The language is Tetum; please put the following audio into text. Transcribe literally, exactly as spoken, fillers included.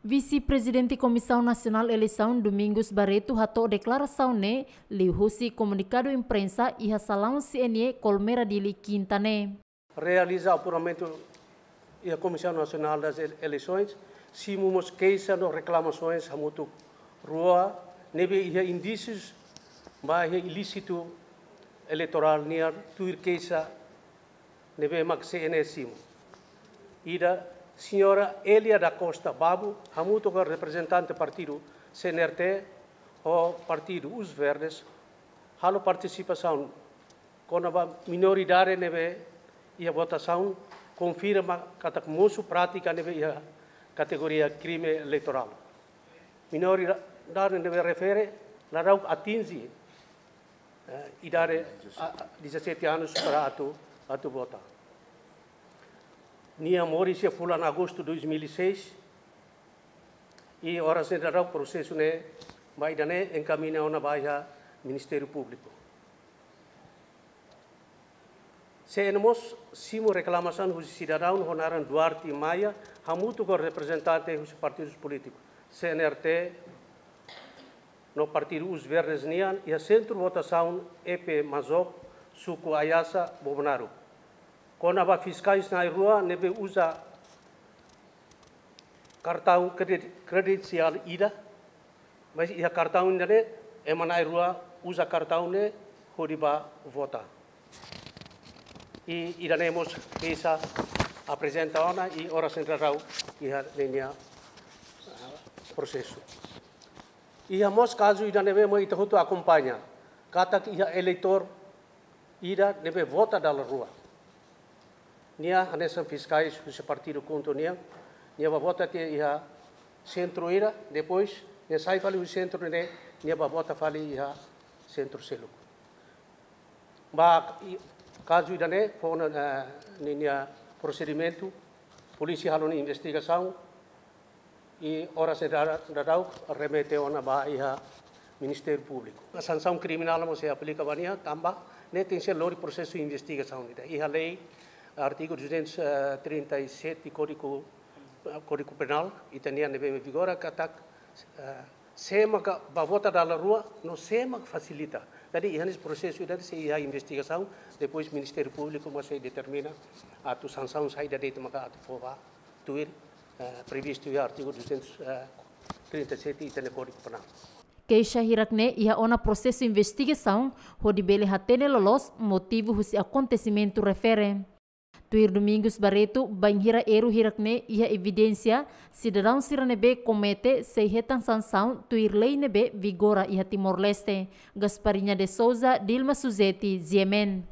Vise-Prezidente Komisaun Nasionál Eleisaun Domingos Barreto hato'o deklarasaun ne'e liuhusi komunikadu imprensa iha salaun C N E Colmera Dili, Kinta ne'e. Realiza apuramentu iha Comissão Nacional das Ele-, Eleições, simu mós keixa no reklamasoens hamutuk rua ne'ebé iha indísius ba iha ilísitu eleitorál nian tuir keixa ne'ebé mak C N E simu. Ida, Señora Elia da Costa Babo, hamutuk ho reprezentante partidu C N R T ho partidu Os Verdes, halo partisipasaun kona-ba minoridade ne'ebé iha votasaun, konfirma katak mosu prátika ne'ebé iha kategoria krime eleitorál. Minoridade ne'ebé refere, ladauk atinje, eh, idade, a, a, dezassete anos para atu, atu vota. Nia moris iha fulan Agostu dois mil e seis, i oras ne'e daudaun prosesu ne'e, ba ida-ne'e enkamiña ona ba iha Ministériu Públiku. C N E mós simu reklamasaun husi sidadaun ho naran Duarte Maia, hamutuk ho reprezentante husi partidus polítiku C N R T no partidu Os Verdes nian, iha sentru votasaun E P Mazop, suku Ayasa, Bobonaro, kona-ba fiskais na'in rua ne'ebé uza kartaun kredi-, kredensiál ida, mas iha kartaun ida-ne'e ema na'in rua uza kartaun ne'e hodi bá vota. I ida-ne'e mós keixa aprezenta ona i oras ne'e daudaun iha ninia, ah, prosesu. Iha mós kazu ida ne'ebé mós ita hotu akompaña, katak iha eleitór ida ne'ebé vota dala rua. Nia hanesan fiskais husi partidu KHUNTO nian, nia bá vota tiha iha sentru ida, depois nia sai fali husi sentru ne'e, nia bá vota fali iha sentru seluk. Ba i-, kazu ida-ne'e, fó ona, eh, ninia prosedimentu, polísia halo nia investigasaun, i oras ne'e daudaun remete ona ba iha Ministériu Públiku. Sansaun kriminál mós sei aplika ba nia, tanba ne'e tenke lori prosesu investigasaun ida. Iha lei, artigu duzentos e trinta e sete Kódigu, eh, Kódigu Penál, ita-nian ne'ebé vigora katak, eh, sé maka bá vota dala rua, no sé maka fasilita. Jadi, iha ne'e prosesu ida sei iha investigasaun, depois Ministériu Públiku mós sei determina atu sansaun saida de'it maka atu fó ba tuir, eh, previstu iha artigu duzentos e trinta e sete ita-nia Kódigu Penál. Keixa hirak-ne'e iha ona prosesu investigasaun hodi bele hatene loloos motivu husi akontesimentu refere. Tuir Domingos Barreto, bainhira erru hirak-ne'e iha evidénsia, sidadaun sira ne'ebé komete sei hetan sansaun tuir lei ne'ebé vigora iha Timor-Leste. Gasparinha de Souza, Dilma Suzeti, G M N.